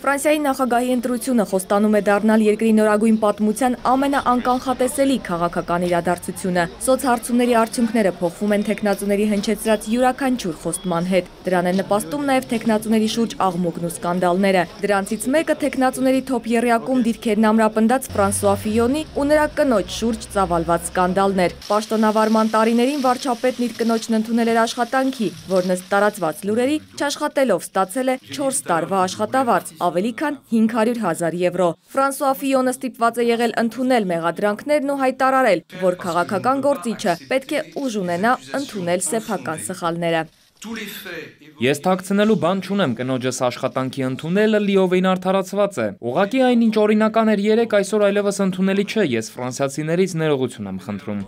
Ֆրանսիայի նախագահի ընտրությունը խոստանում է դառնալ երկրի նորագույն պատմության ամենաանկանխատեսելի քաղաքական իրադարձությունը։ Սոցհարցումների արդյունքները փոխվում են թեկնածուների հնչեցրած յուրաքանչյուր խոստման հետ։ Դրան են նպաստում նաև թեկնածուների շուրջ աղմուկն ու սկանդալները։ Դրանցից մեկը թեկնածուների թոփ եռյակում դիրքերն ամրապնդած Ֆրանսուଆ Ֆիյոնի ու նրա կնոջ շուրջ ծավալված սկանդալն էր։ Պաշտոնավարման տարիներին վարչապետն իր կնոջն ընդունել էր աշխատանքի, որն ըստ տարածված լուրերի չաշխատելով ստացել է 4 տարվա աշխատավարձ, ավելի քան 500,000 եվրո։ Ֆրանսուଆ Ֆիյոնը ստիպված է եղել ընդունել մեղադրանքներն ու հայտարարել, որ քաղաքական գործիչը պետք է ուժ ունենա ընդունել սեփական սխալները։ Ես թաքցնելու բան չունեմ, կնոջս աշխատանքի ընդունելը լիովին արդարացված է։ Ուղղակի այնինչ օրինական էր երեկ, այսօր այլևս ընդունելի չէ, ես ֆրանսիացիներից ներողություն եմ խնդրում։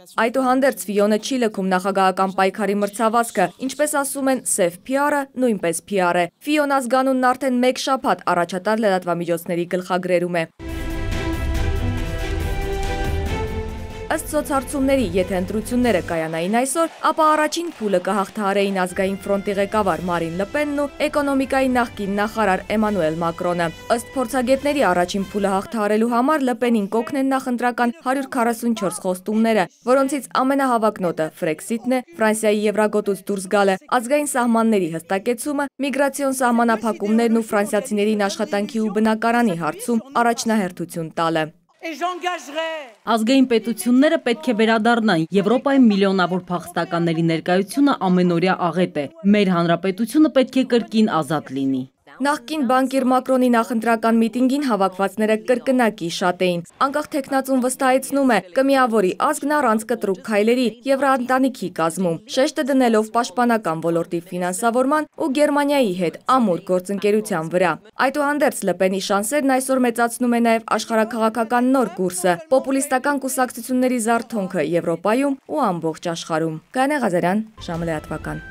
Այդուհանդերձ Ֆիյոնը չի լքում նախագահական պայքարի մրցավազքը, ինչպես ասում են, սև PR-ը նույնպես PR է։ Ֆիյոն ազգանունն արդեն 1 շաբաթ առաջատար լրատվամիջոցների գլխագրերում է։ Ըստ սոցհարցումների, եթե ընտրությունները կայանային այսօր, ապա առաջին փուլը կհաղթահարեին ազգային ֆրոնտի ղեկավար Մարին Լը Պենն ու էկոնոմիկայի նախկին նախարար Էմանուել Մակրոնը։ Ըստ փորձագետների առաջին փուլը հաղթահարելու համար Լը Պենին կօգնեն նախընտրական 144 խոստումները, որոնցից ամենահավակնոտը Ֆրեքսիթն է, Ֆրանսիայի եվրագոտուց դուրս գալը, ազգային սահմանների հստակեցումը, միգրացիոն սահմանափակումներն ու ֆրանսիացիներին աշխատանքի ու բնակարանի հարցում առաջնահերթություն տալը։ Ազգային պետությունները պետք է վերադառնան։ Եվրոպայում միլիոնավոր փախստականների ներկայությունը ամենօրյա աղետ է։ Մեր հանրապետությունը պետք է կրկին ազատ լինի։ Նախկին բանկիր Մակրոնի նախընտրական միտինգին հավաքվածները կրկնակի շատ էին։ Անկախ թեկնածուն վստահեցնում է, կմիավորի ազգն առանց կտրուկ քայլերի Եվրաընտանիքի կազմում, շեշտը դնելով պաշտպանական ոլորտի ֆինանսավորման ու Գերմանիայի հետ ամուր գործընկերության վրա։ Այդուհանդերձ Լը Պենի շանսերն այսօր մեծացնում է նաև աշխարհաքաղաքական նոր կուրսը, պոպուլիստական կուսակցությունների զարթոնքը Եվրոպայում ու ամբողջ աշխարհում։ Գայանե Ղազարյան, ժամը լրատվական։